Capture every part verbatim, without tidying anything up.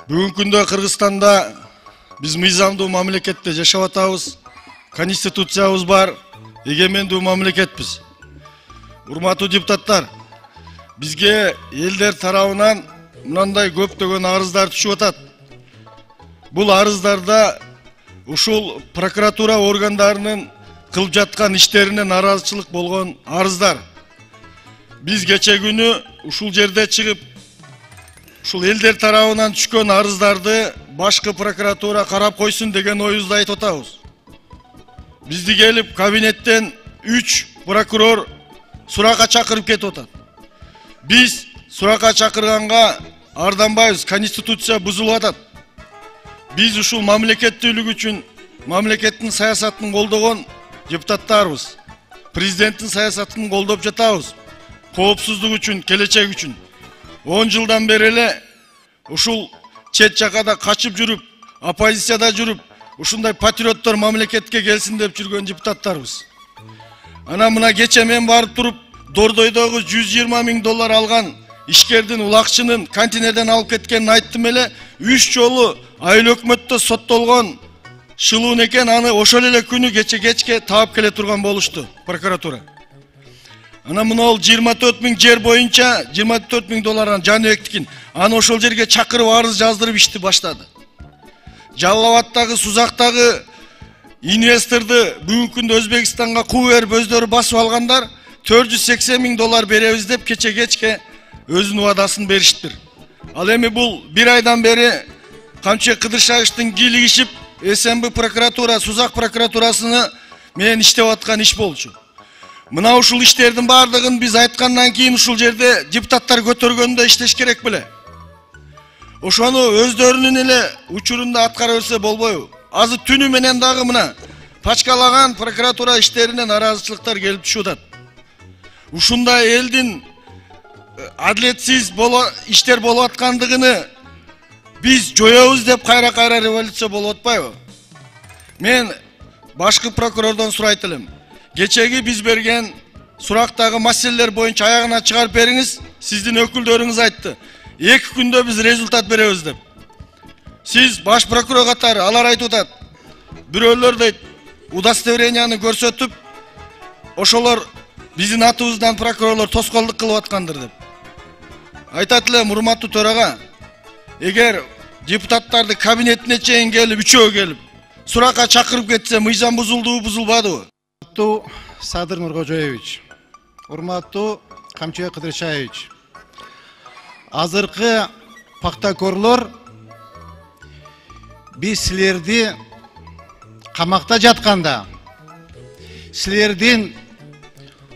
Бүгүнкү күндө Кыргызстанда биз мыйзамдуу мамлекетте жашап атабыз. Конституциябыз бар, эгемендүү мамлекетпиз. Урматтуу депутаттар, бизге элдер тарабынан мындай көптөгөн арыздар түшүп атат. Бул арыздарда ушул прокуратура органдарынын кылып жаткан иштерине наразычылык болгон арыздар. Биз кече күнү ушул жерде чыгып, ушул элдер тарабынан түшкөн арыздарды башкы прокуратура карап койсун деген оюбузду айтып атабыз. Бизди келип кабинеттен үч прокурор суракка чакырып кетип атат. Биз суракка чакырганга арданбайбыз, конституция бузулуп атат. Биз ушул мамлекеттүүлүк үчүн мамлекеттин саясатын колдогон депутаттарбыз. Президенттин саясатын колдоп жатабыз. Коопсуздук үчүн, келечек үчүн. он жылдан бери эле ушул чет жакада качып жүрүп, оппозицияда жүрүп, ушундай патриоттор мамлекетке келсин деп жүргөн депутаттарбыз. Ана мына кече мен барып туруп, Дордойдогу жүз жыйырма миң доллар алган ишкердин улакчынын контейнерден алып кеткенин айттым эле, үч жолу айыл өкмөттө соттолгон Шылуун экен, аны ошол эле күнү кече кечке таап келе турган болушту прокуратура. Ана мына ол жыйырма төрт миң жер боюнча жыйырма төрт миң доллардан Жаныбектикин, аны ошол жерге чакырып арыз жаздырып ишти баштады. Жалал Абадтагы, Сузактагы инвесторду бүгүнкү күндө Өзбекстанга куу берип өздөрү басып алгандар төрт жүз сексен миң доллар беребиз деп кече кечке өзүнүн убадасын бериштир. Ал эми бул бир айдан бери Камчы Кыдыршагычтын кийлигишип СМБ прокуратура, Сузак прокуратурасыны менен иштеп аткан иш болчу. Мына ушул иштердин бардыгын биз айткандан кийин ушул жерде депутаттар көтөргөндө иштеш керек беле? Ошону өздөрүнүн эле учурунда аткара берсе болбойбу? Азыр түнү менен дагы мына пачкалаган прокуратура иштерине наразычылыктар келип түшүп атат. Ушундай элдин адилетсиз иштер болуп аткандыгыны биз жоёбуз деп кайра-кайра революция болуп атпайбы? Мен башкы прокурордон сурайт элем. Кечеги биз берген сурактагы маселелер боюнча аягына чыгарып бериңиз. Сиздин өкүлдөрүңүз айтты. эки күндө биз результат беребиз деп. Сиз баш прокурор катары алар айтып атат. Бирөөлөр дейт, удостоверенияны көрсөтүп, ошолор биздин атыбыздан прокурорлор тоскоолдук кылып аткандыр деп. Айтат элем, урматтуу төрага, эгер депутаттарды кабинетине чейин келип, үчөө келип, суракка чакырып кетсе, мыйзам бузулдубу, бузулбадыбы? Урматтуу Садыр Нуркожоевич, урматтуу Камчы Кыдыршаевич, азыркы пактакорлор биз силерди камакта жатканда, силердин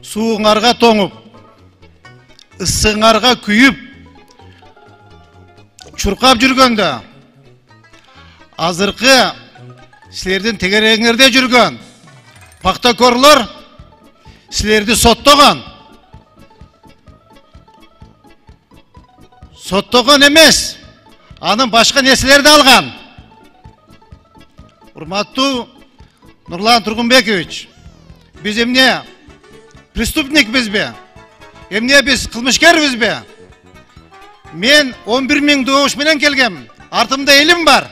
сууңарга тоңуп, ысыңарга күйүп, чуркап жүргөндө, азыркы силердин тегерегиңерде жүргөн пактакорлор силерди соттогон. Соттогон эмес, анын башка нерселерди алган. Урматтуу Нурлан Тургунбекович, биз эмне преступникпизби? Эмне биз кылмышкербизби? Мен он бир миң добуш менен келгем. Артымда элим бар.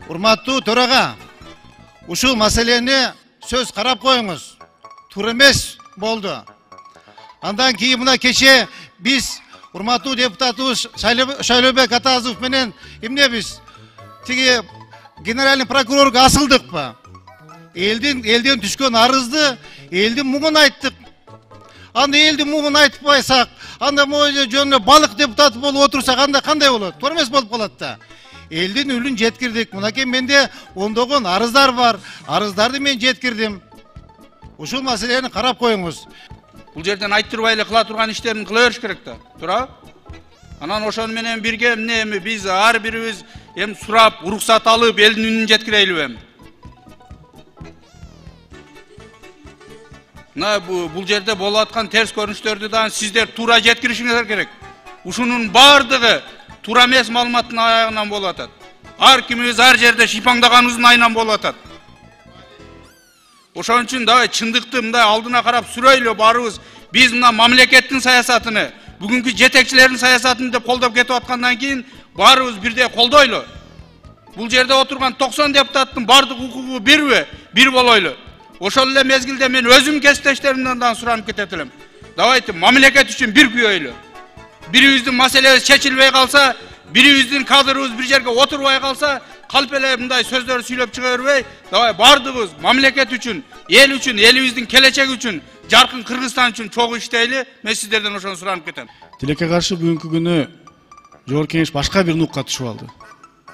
Урматтуу төрага, ушул маселени сөз карап коюңуз. Туура эмес болду. Андан кийин мына кече биз урматтуу депутатыбыз Шайлообек Атазов менен эмне биз тиги генеральный прокурорго асылдыкпы? Элдин элден түшкөн арызды, элдин муңун айттык. Анда элдин муңун айтпайсак, анда моюнда жөнүнө балык депутаты болуп отурсак, анда кандай болот? Туура эмес болуп калат да. Элдин үлүн жеткирдик. Мынакей менде ондогон арыздар бар. Арыздарды мен жеткирдим. Ушул маселени карап коюңуз. Бул жерден айттырбай эле кыла турган иштерин кыла бериш керек да. Туура? Анан ошону менен бирге эмне эми биз ар бирибиз эми сурап, уруксат алып, элдин үнүн жеткирелиби эми? Мына бул жерде болуп аткан терс көрүнүштөрдү да сиздер туура жеткиришиңиздер керек. Ушунун бардыгы туура эмес маалыматтын аягынан болуп атат. Ар кимибиз ар жерде шипаңдаганыбыздын айынан болуп атат. Ошон үчүн да чындыкты мындай алдына карап сүрөйлө барыбыз. Биз мына мамлекеттин саясатыны, бүгүнкү жетекчилердин саясатын деп колдоп кетип аткандан кийин баарыбыз бирдей колдойлу. Бул жерде отурган токсон депутаттын бардык укугу бирби? Бир болойлу. Ошол эле мезгилде мен өзүм кесиптештеримден да суранып кетет элем. Давайте мамлекет үчүн бир күйөйлү. Бирибиздин маселебиз чечилбей калса, бирибиздин кадрыбыз бир жерге отурбай калса, калп эле мындай сөздөр сүйлөп чыга бербей, давай бардыгыбыз мамлекет үчүн, эл үчүн, элибиздин келечеги үчүн, жаркын Кыргызстан үчүн чогуу иштейли. Мен сиздерден ошону суранып кетем. Тилекке каршы бүгүнкү күнү Жогорку Кеңеш башка бир нукка түшүп алды.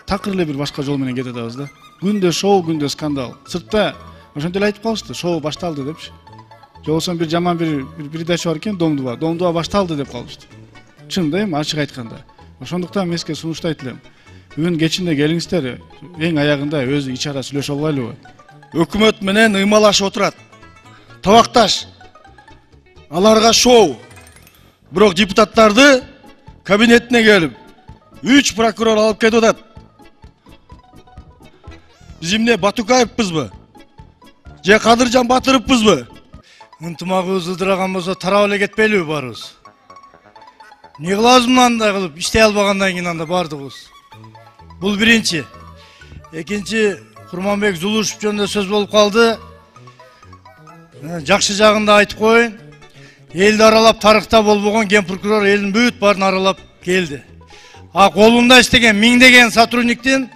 Такыр эле бир башка жол менен кетип атабыз да. Күндө шоу, күндө скандал. Сыртта ошентип эле айтып калышты, шоу башталды депчи. Жолсон бир жаман бир передача бар экен, Домдуба. Домдуба башталды деп калышты. Чын да эми ачык айтканда. Ошондуктан мен сизге сунуштайт элем. Бүгүн кечинде келиңиздер, эң аягында өзү ич ара сүйлөшө албайлыбы? Өкмөт менен ыймалашып отурат. Табакташ. Аларга шоу. Бирок депутаттарды кабинетине келип үч прокурор алып кетип атат. Биз эмне Батукаевпызбы? Же Кадыржан Батыровпузбу? Ынтымагыбыз ылдыраган болсо тарап эле кетпейлиби баарыбыз? Не кылабыз мындай кылып иштей албагандан кийин анда бардыгыбыз? Бул биринчи. Экинчи, Курманбек Зулушев жөнүндө сөз болуп калды. Жакшы жагын да айтып коеюн. Элди аралап тарыхта болбогон ген прокурор элдин бүт баарын аралап келди. А колунда иштеген миңдеген сотрудниктин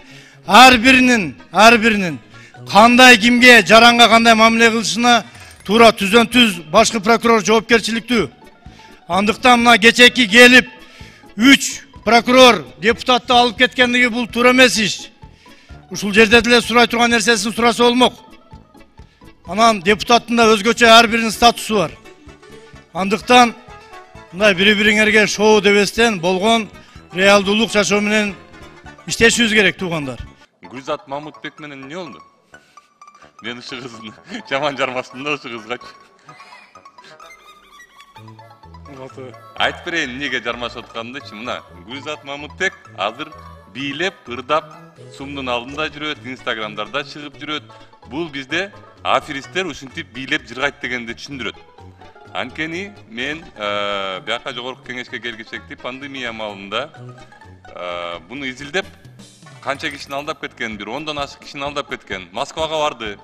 ар биринин, ар биринин кандай кимге, жаранга кандай мамиле кылышына туура түздөн түз башкы прокурор жоопкерчиликтүү. Андыктан мына кечеки келип үч прокурор депутатты алып кеткендиги бул туура эмес иш. Ушул жерде деле сурай турган нерсесин сураса болмок. Анан депутаттын да өзгөчө ар биринин статусу бар. Андыктан мындай бири-бириңерге шоу дебестен болгон реалдуулук жашоо менен иштешибиз керек, туугандар. Гүлзат Мамытбек менен эмне болду? Мен ушу кыздын жаман жармаштым да ушу кызгачы. Айтып берейин эмнеге жармашып атканымдычы. Мына Гүлзат Мамытбек азыр бийлеп, ырдап, сумдун алдында жүрөт, инстаграмдарда чыгып жүрөт. Бул бизде аферисттер ушинтип бийлеп жыргайт дегенди түшүндүрөт. Анткени мен бияка Жогорку Кеңешке келгичекти пандемия маалында буну изилдеп канча кишини алдап кеткен, бир ондон ашык кишини алдап кеткен. Москвага барды.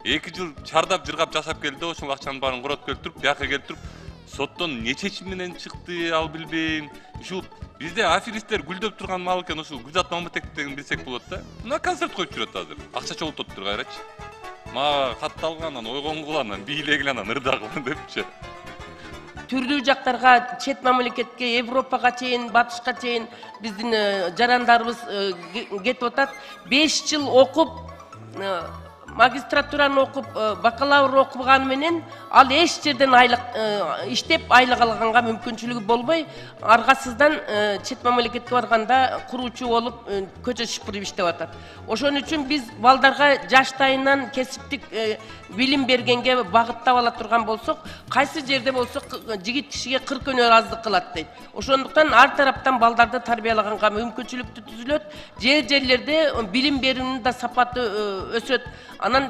эки жыл чардап жыргап жашап келди, ошол акчанын баарын коротуп келип туруп, бияка келип туруп, соттон эмне чечим менен чыкты, ал билбейм. Ушул бизде аферисттер гүлдөп турган маал экен, ушул Гүлзат Мамытбек деген билсек болот да. Мына концерт коюп жүрөт азыр. Акча чогултуп тур кайрачы. Мага катталган, анан ойгонгул, анан бийлегил, анан ырдагыл депчи. Түрдүү жактарга, чет мамлекетке, Европага чейин, батышка чейин биздин жарандарыбыз кетип атат. беш жыл окуп, магистратураны окуп, бакалавр окуганы менен ал эч жерден айлык иштеп айлык алганга мүмкүнчүлүгү болбой, аргасыздан чет мамлекетке барганда куруучу болуп көчө шыпырып иштеп атат. Ошон үчүн биз балдарга жаштайынан кесиптик билим бергенге багыттап ала турган болсок, кайсы жерде болсо жигит кишиге кырк өнөр аздык кылат дейт. Ошондуктан ар тараптан балдарды тарбиялаганга мүмкүнчүлүк түзүлөт. Жер жерлерде билим берүүнүн да сапаты өсөт. Анан